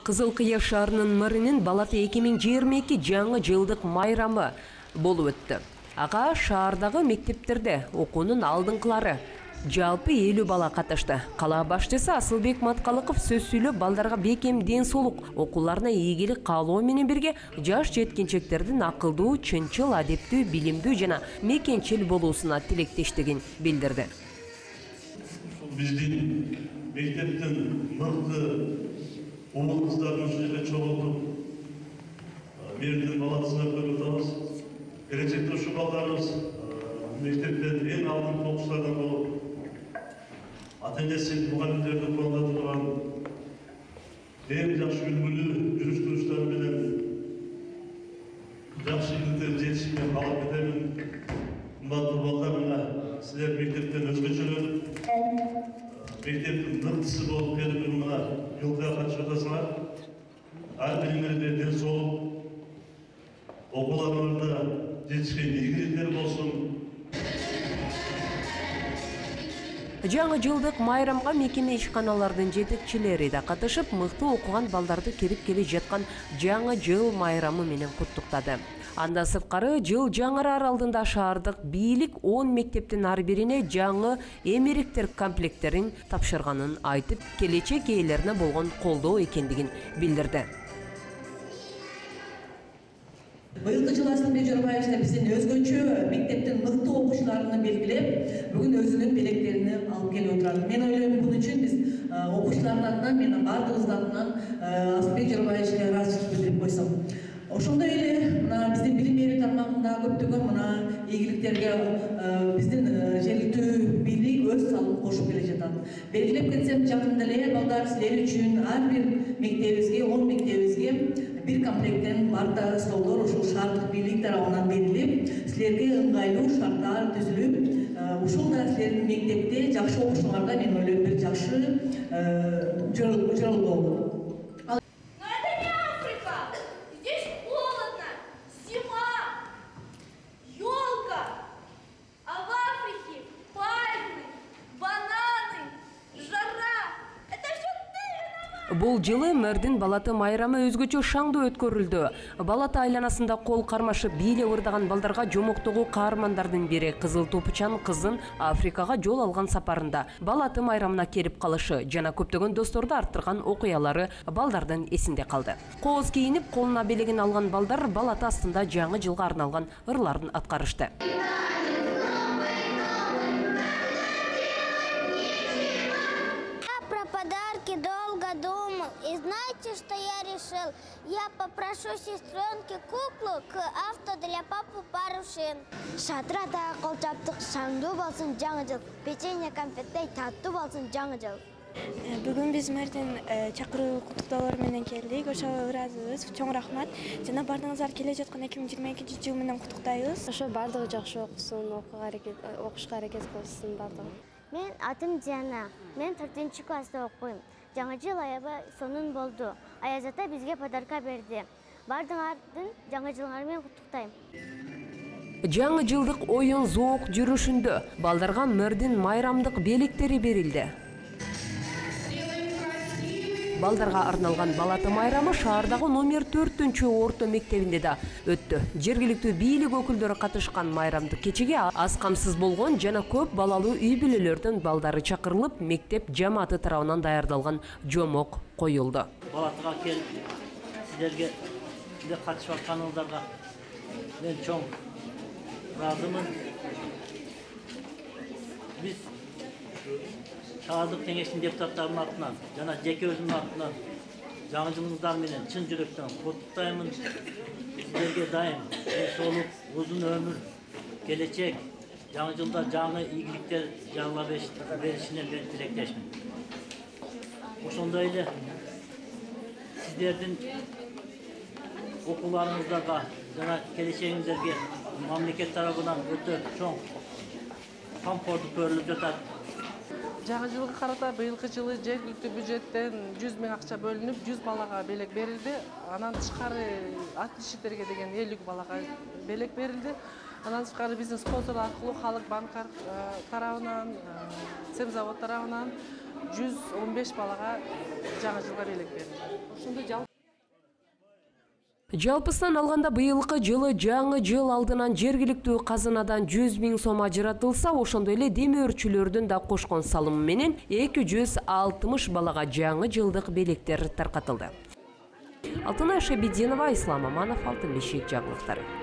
Кызыл Кыя шаарынын мэринин Балаты 2022 жаңы жылдык майрамы болуп өттү. Ага шаардагы мектептерде окуунун алдыңкылары жалпы 50 бала катышты. Кала башчысы Асылбек Маткалыков сөз сүйлөп, балдарга бекем ден соолук, окууларына ийгилик каалоо менен бирге жаш жеткинчектердин акылдуу, чынчыл, адептүү, билимдүү жана мекенчил болуусуна тилектештигин билдирди. Биздин мектептин мыкты уул кыздарын ушул жерге чогултуп, мэрдин баласына көрүп атабыз. Келечекте ушу балдарыбыз мектептен эң алдыңкы окуучулардан болуп, ата-энеси, мугалимдерди колдоп турган эң жакшы үлгүлүү жүрүш-туруштары менен жакшы ийгиликтерге жетишиңерди каалап кетемин. Кымбаттуу балдар, мына силер мектептен өзгөчөлөнүп, мектептин мыктысы болуп келип, мына жылга катышып атасыңар. Ар бириңерде ден соолук, окууларыңарда жетишкен ийгиликтер болсун. Жаңы жылдык майрамга мекеме ишканалардын жетекчилери да катышып, мыкты окуган балдарды кирип келе жаткан жаңы жыл майрамы менен куттуктады. Анда сырткары жыл жаңырар алдында шаардык бийлик 10 мектептин ар бирине жаңы эмеректер комплекттерин тапшырганын айтып, келечек ээлерине болгон колдоо экендигин билдирди. Быйылкы жыл Асылбек Жорбаевич биздин өзгөчө мектептин мыкты окуучуларын белгилеп, бүгүн өзүнүн белектерини алып келип отурат. Мен ойлойм, бул үчүн биз окуучулардын атынан, мен бардыгыбыздын атынан Асылбек Жорбаевичке ыраазычылык билдирип койсом. Ошондой эле мына биздин билим берүү тармагында көптөгөн мына ийгиликтерге биздин жергиликтүү бийлик өз салымын кошуп келе жатат. Белгилеп кетсем, жакында эле балдар силер үчүн ар бир мектебибизге, 10 мектебибизге бир комплекттен барда столдор ушул шаардык бийлик тарабынан берилип, силерге ыңгайлуу шарттар түзүлүп, ушул да силердин мектепте жакшы окушуңарга мен ойлойм бир жакшы жол болду. Бул жылы мэрдин Балаты майрамы өзгөчө шаңдуу өткөрүлдү. Балаты айланасында кол кармашып бийлеп ырдаган балдарга жомоктогу каармандардын бири Кызыл Топучан кызын Африкага жол алган сапарында Балаты майрамына келип калышы жана көптөгөн досторду арттырган окуялары балдардын эсинде калды. Кооз кийинип, колуна белегин алган балдар Балаты астында жаңы жылга арналган ырларын аткарышты. И знаете, что я решил? Я попрошу сестренки куклу к авто для папы пару шин. Шатрада колчаптык шаңдуу болсун жаңы жыл. Печенье конфеттей таттуу болсун жаңы жыл. Бүгүн биз мэрдин чакыруу куттуктоолору менен келдик. Ошо ыраазыбыз. Чоң рахмат. Жана бардыгыңыздар келе жаткан 2022 жыл менен куттуктайбыз. Ошо бардыгы жакшы окусун, окушка аракет кылсын бардыгы. Мен атым Диана. Мен 4-класста окуйм. Жаңы жыл аябай сонун болду. Аяз ата бизге подарка берди. Бардыңардын жаңы жылыңар менен куттуктайм. Жаңы жылдык оюн зоок жүрүшүндө балдарга мэрдин майрамдык белектери берилди. Балдарга арналган Балаты майрамы шаардагы номер 4-орто мектебинде да өттү. Жергиликтүү бийлик өкүлдөрү катышкан майрамдык кечеге аз камсыз болгон жана көп балалуу үй-бүлөлөрдүн балдары чакырылып, мектеп жамааты тарабынан даярдалган жомок коюлду. Балатыга келип, силерге катышып атканыңыздарга мен чоң ыраазымын. Биз шаардык кеңештин депутаттарынын атынан жана жеке өзүмдүн атынан жаңы жылыңыздар менен чын жүрөктөн куттуктаймын. Силерге дайым ден соолук, узун өмүр, келечек, жаңы жылда жаңы ийгиликтер жаңыла беришине мен тилектешмин. Ошондой эле сиздердин окууларыңыздарга жана келечегиңиздерге мамлекет тарабынан өтө чоң камкордук көрүлүп жатат. Жаңы жылга карата быйылкы жылы жергиликтүү бюджеттен 100 000 акча бөлүнүп, 100 балага белек берилди. Анан тышкары отличниктерге деген 50 балага белек берилди. Андан тышкары биздин спонсор аркылуу Халык банк тарабынан, Семзавод тарабынан 115 балага жаңы жылга белек берилди. Ошондо жалпысынан алганда быйылкы жылы жаңы жыл алдынан жергиликтүү казынадан 100 000 сом ажыратылса, ошондой эле демөөрчүлөрдүн да кошкон салымы менен 260 балага жаңы жылдык белектер таркатылды. Алтынай Шабидинова, Ислам Аманов, Алтын бешик жаңылыктары.